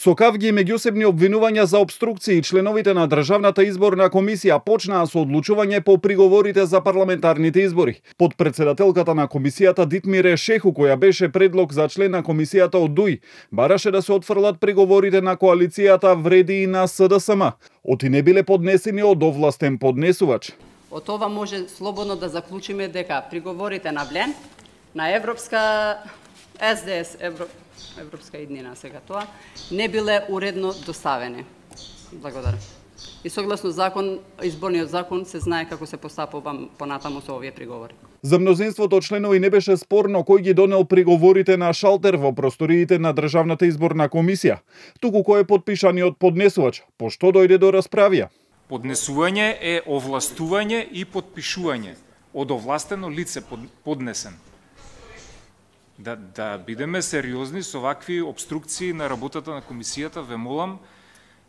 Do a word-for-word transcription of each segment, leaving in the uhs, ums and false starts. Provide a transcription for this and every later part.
Со кавги и меѓусебни обвинувања за обструкции, членовите на Државната изборна комисија почнаа со одлучување по приговорите за парламентарните избори. Подпредседателката на комисијата Дитмире Шеху, која беше предлог за член на комисијата од ДУИ, бараше да се отфрлат приговорите на коалицијата вреди и на СДСМ. Оти не биле поднесени од овластен поднесувач. Од ова може слободно да заклучиме дека приговорите на Влен, на Европска СДС, Евро... Европска иднина сега тоа, не биле уредно доставени. Благодарам. И согласно закон, изборниот закон, се знае како се постапува понатаму со овие приговори. За мнозинството членови не беше спорно кој ги донел приговорите на шалтер во просториите на Државната изборна комисија, туку кој е подпишаниот поднесувач, пошто дојде до расправија. Поднесување е овластување и подпишување од овластено лице поднесен. Да, да бидеме сериозни со вакви обструкции на работата на комисијата, ве молам,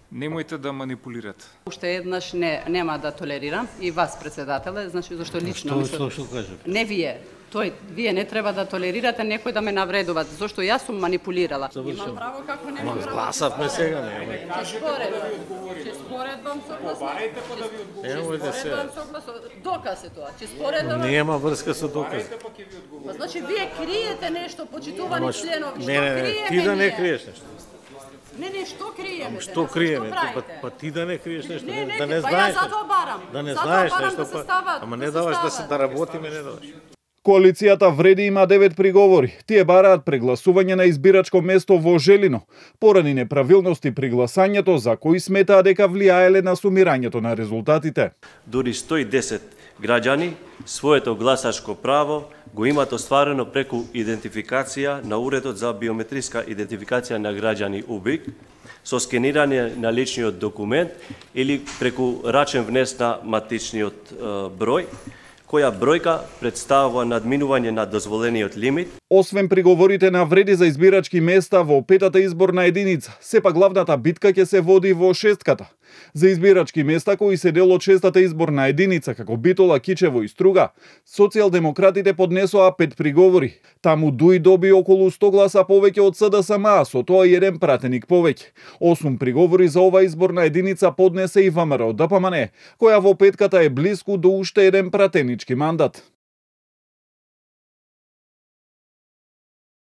немојте да манипулирате. Уште еднаш не, нема да толерирам и вас, председателе, значи зашто лично... Што, што, што кажете? Не вие. Тој, вие не треба да толерирате некој да ме навредува, зашто јас сум манипулирала. Имам право како немам право. Гласавме сега, нема. Ќе споредам. Ќе споредам согласно. Побарајте па да ви одговорам. Ево да се. Доказ е тоа. Ќе споредам. Нема врска со доказ. Па значи вие криете нешто, почитувани членови. Не, не, не, ти да не криеш нешто. Не, не, што криеме? Што криеме? Па, па ти да не криеш нешто, не, не, да не па знаеш. Ја затоа барам. Да не затоа знаеш барам нешто, да се па, стават, ама да не се даваш да се стават. да работиме, не даваш. Коалицијата Вреди има девет приговори. Тие бараат прегласување на избирачко место во Желино, поради неправилности при гласањето за кои сметаа дека влијаеле на сумирањето на резултатите. Дури сто и десет граѓани своето гласачко право го имат остварено преку идентификација на Уредот за биометриска идентификација на граѓани УБИК, со скенирање на личниот документ или преку рачен внес на матичниот е, број, која бројка представува надминување на дозволениот лимит. Освен приговорите на Вреди за избирачки места во петата изборна единица, сепак главната битка ќе се води во шестката. За избирачки места кои се дел од шестата изборна единица, како Битола, Кичево и Струга, социјалдемократите поднесоа пет приговори. Таму ДУИ доби околу сто гласа повеќе од СДСМ, а со тоа и еден пратеник повеќе. Осум приговори за ова изборна единица поднесе и ВМРО ДПМН, која во петката е блиску до уште еден пратенички мандат.